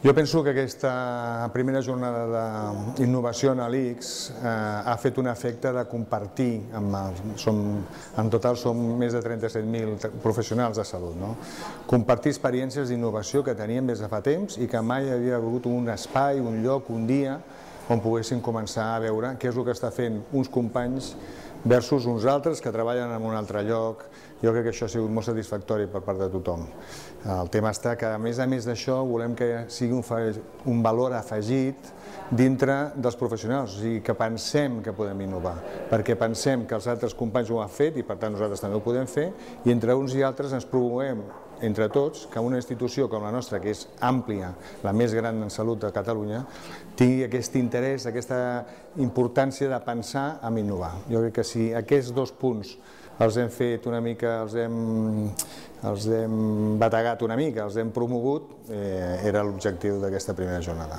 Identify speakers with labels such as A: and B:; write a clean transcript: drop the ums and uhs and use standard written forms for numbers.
A: Jo penso que aquesta primera jornada d'innovació a l'ICS ha fet un efecte de compartir, en total som més de 37.000 professionals de salut, compartir experiències d'innovació que teníem des de fa temps i que mai havia hagut un espai, un lloc, un dia on poguessin començar a veure què és el que està fent uns companys versus uns altres que treballen en un altre lloc. Jo crec que això ha sigut molt satisfactori per part de tothom. El tema està que, a més d'això, volem que sigui un valor afegit dintre dels professionals, o sigui, que pensem que podem innovar, perquè pensem que els altres companys ho han fet i per tant nosaltres també ho podem fer, i entre uns i altres ens promovem entre tots que una institució com la nostra, que és àmplia, la més gran en salut de Catalunya, tingui aquest interès, aquesta importància de pensar en innovar. Jo crec que si aquests dos punts els hem fet una mica, els hem bategat una mica, els hem promogut, era l'objectiu d'aquesta primera jornada.